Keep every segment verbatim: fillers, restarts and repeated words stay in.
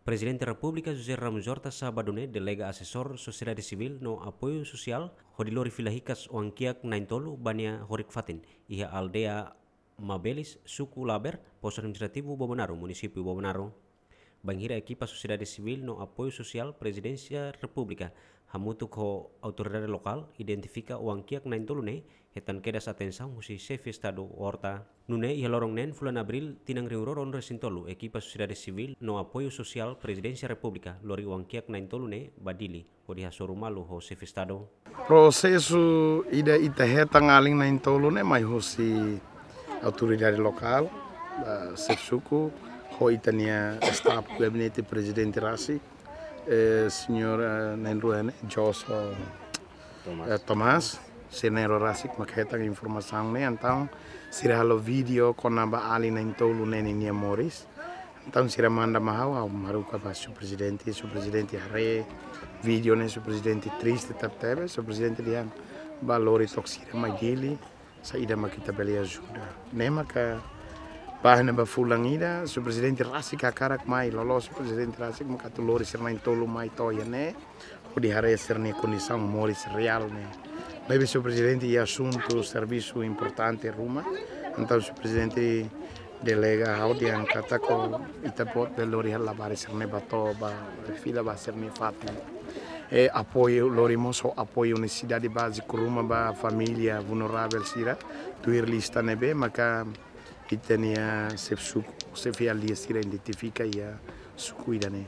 Prezidente Repúblika José Ramos Horta sábadu ne'e delega asesór sosiedade sivíl no apoiu sosiál hodi lori fila hikas oan-kiak na'in-tolu ba nia horik-fatin iha aldeia Mabelis, suku Laber, postu administrativu Bobonaro, munisípiu Bobonaro. Bainhira ekipa sosiedade sivíl no apoiu sosiál Prezidénsia Repúblika hamutuk ho autoridade lokál identifika oan-kiak na'in-tolu ne'e, hetan kedas atensaun husi Xefe Estadu Horta. Nune'e iha loron neen fulan Abríl tinan rihun rua ruanulu-resin-tolu, ekipa sosiedade sivíl no apoiu sosiál Prezidénsia Repúblika lori oan-kiak na'in-tolu ne'e ba Dili hodi hasoru malu ho Xefe Estadu. Prosesu ida ita hetan alin na'in-tolu ne'e mai husi autoridade lokál, ah, xefe suku, ho ita-nia staf gabinete prezidente rasik, eh, señór, eh, na'in-rua ne'e, Joso, eh, Tomás, sira na'in-rua rasik mak hetan informasaun ne'e, entaun sira halo vídeo kona-ba alin na'in-tolu ne'e ninia moris. Entaun sira manda mai ha'u, ha'u haruka ba señór prezidente, señór prezidente haree vídeo ne'e, señór prezidente triste tebetebes, señór prezidente dehan bá lori took sira mai Dili, saida mak ita bele ajuda. Ne'e maka ba ne'ebá fulan ida, señór prezidente rasik hakarak mai, loloos señór prezidente rasik maka atu lori sira na'in-tolu mai to'o iha ne'e, hodi haree sira-nia kondisaun moris reál ne'e. Maibé señór prezidente iha asuntu servisu importante ruma, entaun señór prezidente delega ha'u dehan katak ita-boot bele lori hela labarik sira ne'e ba to'o, bá fila ba sira-nia fatin. I apoiu, lori mós ho apoiu nesesidade báziku ruma ba família vulneravel sira, tuir lista ne'ebé maka ita-nia xefe suku, xefe aldeia sira identifika iha suku ida-ne'e.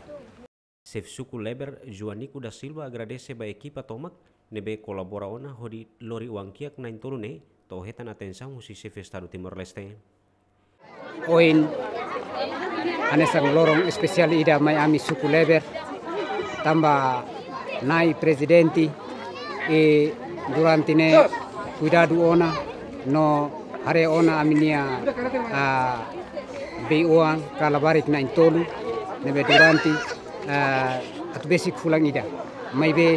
Xefe suku Leber, Joanico da Silva, agradese ba ekipa tomak ne'ebé kolabora ona hodi lori oan-kiak na'in-tolu ne'e, to'o hetan atensaun husi Xefe Estadu Timor-Leste. Ohin hanesan loron espesiál ida mai ami suku Leber, tanba Na'i Prezidente, i durante ne'e kuidadu ona no haree ona ami-nia, ah, bei-oan ka labarik na'in-tolu ne'ebé durante, ah, atu besik fulan ida. Maibé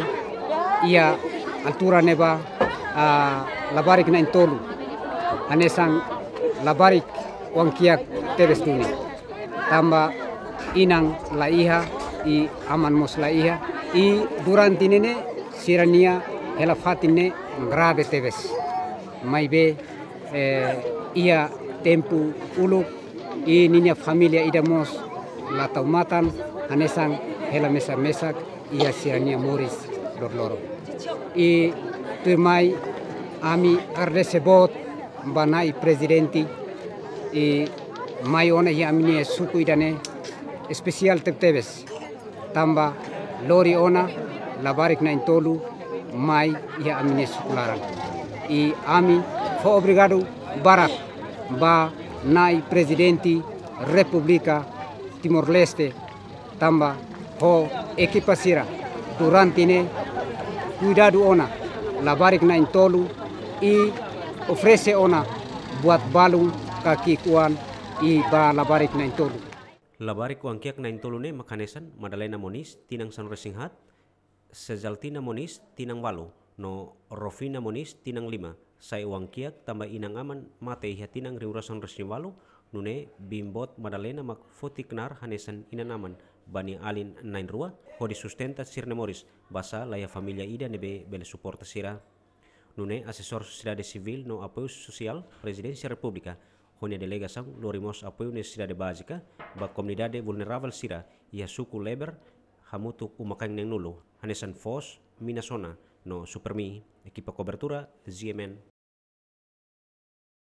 iha altura ne'ebá, ah, labarik na'in-tolu hanesan labarik oan-kiak tebes duni. Tanba inan la iha, i aman mós la iha, i durante ne'e ne'e sira-nia hela fatin ne'e grave tebes. Maibé, eh, iha tempu uluk, i ninia família ida mós la tau matan, hanesan hela mesak-mesak iha sira-nia moris loroloron. I tuirmai ami agradese boot ba Na'i Prezidente, i mai ona iha ami-nia suku ida-ne'e espesiál tebetebes. Tanba lori ona labarik na'in-tolu mai iha ami-nia suku laran. I ami fó obrigadu barak ba Na'i Prezidente Repúblika Timor-Leste, tanba ho ekipa sira durante ne'e kuidadu ona labarik na'in-tolu i oferese ona buat balun ka ki'ik-oan i ba labarik na'in-tolu. Labarik oan-kiak na'in-tolu ne'e mak hanesan Madalena Moniz, tinan sanulu-resin-haat, Sezaltina Moniz, tinan ualu, no Rofina Moniz, tinan lima, sai oan-kiak tanba inan-aman mate iha tinan rihun rua sanulu-resin-ualu, nune'e biin-boot Madalena mak foti knaar hanesan inan-aman ba nia alin na'in-rua, hodi sustenta sira-nia moris, basá la iha família ida ne'ebé bele suporta sira. Nune'e asesór sosiedade sivíl no apoiu sosiál Prezidénsia Repúblika, ho nia delegasaun lori mós apoiu nesesidade bázika ba komunidade vulneravel sira iha suku Leber, hamutuk uma-kain neen-nulu, hanesan foos, mina sona, no Supermi. Ekipa kobertura, Z M N.